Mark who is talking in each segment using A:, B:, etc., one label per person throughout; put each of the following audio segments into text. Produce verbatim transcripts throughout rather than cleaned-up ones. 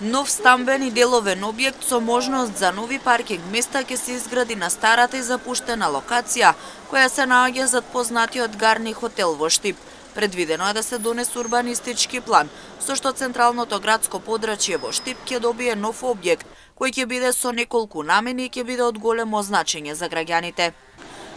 A: Нов стамбен и деловен објект со можност за нови паркинг места ќе се изгради на старата и запуштена локација, која се наоѓа зад познатиот Гарни хотел во Штип. Предвидено е да се донесе урбанистички план, со што централното градско подрачје во Штип ќе добие нов објект, кој ќе биде со неколку намени и ќе биде од големо значење за граѓаните.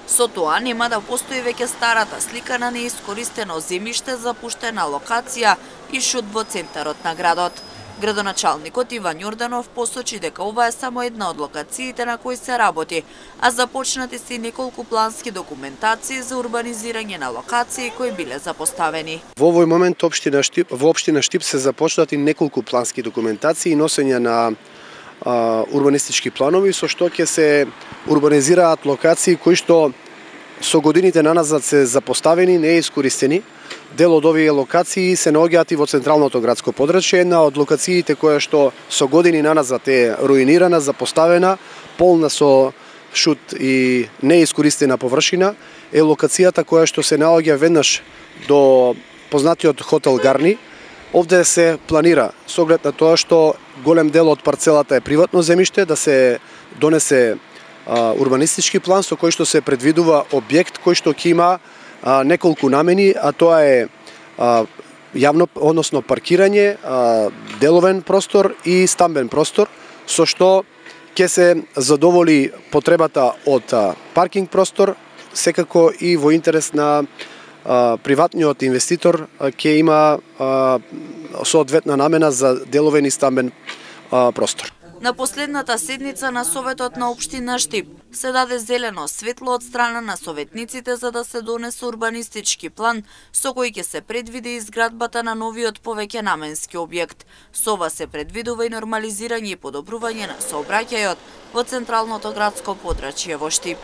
A: Со тоа нема да постои веќе старата слика на неискористено земјиште, запуштена локација и шут во центарот на градот. Градоначалникот Иван Јорданов посочи дека ова е само една од локациите на кои се работи, а започнати се и неколку плански документации за урбанизирање на локации кои биле запоставени.
B: Во овој момент општина Штип, во општина Штип се започнати неколку плански документации и носење на а, урбанистички планови, со што ќе се урбанизираат локации кои што со годините наназад се запоставени, неискористени. Дел од овие локации се наоѓаат и во централното градско подрачје, една од локациите која што со години наназад е руинирана, запоставена, полна со шут и неискористена површина, е локацијата која што се наоѓа веднаш до познатиот хотел Гарни. Овде се планира, со оглед на тоа што голем дел од парцелата е приватно земјиште, да се донесе а, урбанистички план со кој што се предвидува објект кој што ќе има а, неколку намени, а тоа е а, јавно, односно паркирање, а, деловен простор и стамбен простор, со што ќе се задоволи потребата од а, паркинг простор, секако и во интерес на а, приватниот инвеститор ќе има а, соодветна намена за деловен и стамбен а, простор.
A: На последната седница на Советот на општина Штип се даде зелено светло од страна на советниците за да се донесе урбанистички план со кој ќе се предвиди изградбата на новиот повеќенаменски објект. Со ова се предвидува и нормализирање и подобрување на сообраќајот во централното градско подрачје во Штип.